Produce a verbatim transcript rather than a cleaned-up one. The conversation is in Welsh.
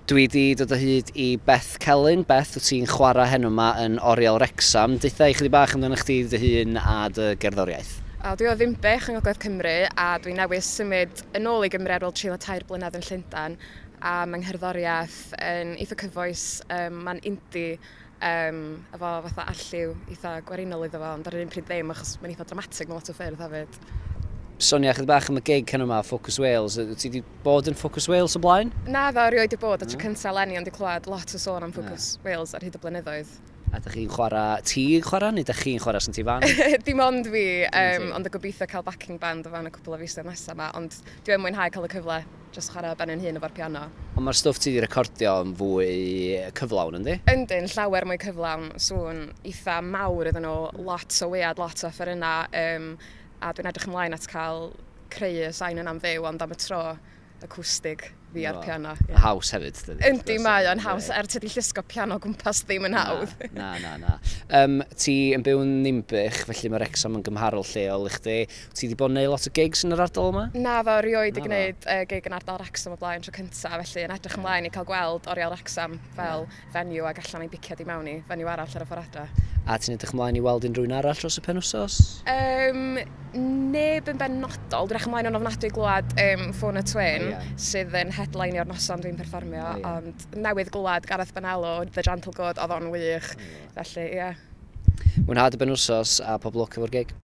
Dwi wedi dod o hyd i Beth Celyn. Beth, wyt ti'n chwarae heno yma yn Oriel Wrecsam. Deutha i chydig bach amdano chdi dy hun a dy gerddoriaeth. O, dwi o Ddinbych yng Ngogledd Cymru a dwi newydd symud yn ôl i Gymru ar ôl treulio tair blynedd yn Llundain, a mae ngherddoriaeth yn eitha cyfoes, um, mae'n indie, um, efo fatha arlliw eitha gwerinol iddo fo, ond ar yr un pryd ddim, achos mae'n eitha dramatig mewn lot o ffyrdd hefyd. Sonia chydig bach am y gig heno yma, Focus Wales. Wyt ti wedi bod yn Focus Wales o blaen? Na ddo, erioed wedi bod, a tro cyntaf eleni, ond wedi clywed lot o sôn am Focus yeah. Wales ar hyd y blynyddoedd. A ydych chi'n chwarae, ti'n chwarae, neu ydych chi'n chwarae sy'n ti fan? Dim ond fi, um, ond y gobeithio cael backing band o fan y cwpl o fisoedd nesaf yma, ond dwi yn mwynhau cael y cyfle jyst chwarae ben yn hun efo'r piano. Ond mae'r stwff ti wedi recordio yn fwy cyflawn, yndi? Yndyn, llawer mwy cyflawn, sŵn eitha mawr iddyn nhw, lot o wead, lot o offerynnau, um, a dwi'n edrych ymlaen at cael creu y sain yna'n fyw, ond am y tro acoustic fi a'r piano. Yeah. Haws hefyd, dydy? Yndi, mae o'n haws, er tydi llusgo piano gwmpas ddim yn hawdd. Na, na, na. Um, ti yn byw yn Ninbych, felly mae Wrecsam yn gymharol lleol i chdi. Ti wedi bod yn neud lot o gigs yn yr ardal yma? Na, fo, erioed i gwneud uh, gig yn ardal Wrecsam o blaen tro cyntaf, felly yn edrych ymlaen i cael gweld Oriel Wrecsam fel yeah. venue ac allan i'n biciad i mewn i venue arall ar y ffordd adra. A ti'n edrych ymlaen i weld unrhyw un arall dros y penwsos? Um, neb yn benodol. Dwi'n edrych ymlaen yn ofnadwy i glywed um, Ffôn y Twin, oh, yeah. sydd yn headlineio'r noson dwi'n perfformio, oh, yeah. ond newydd glywed Gareth Bonello, The Gentle Good, oedd o'n wych. Oh, yeah. Felly, ie. Yeah. Mwynhad y benwsos a pob lwc efo'r gig.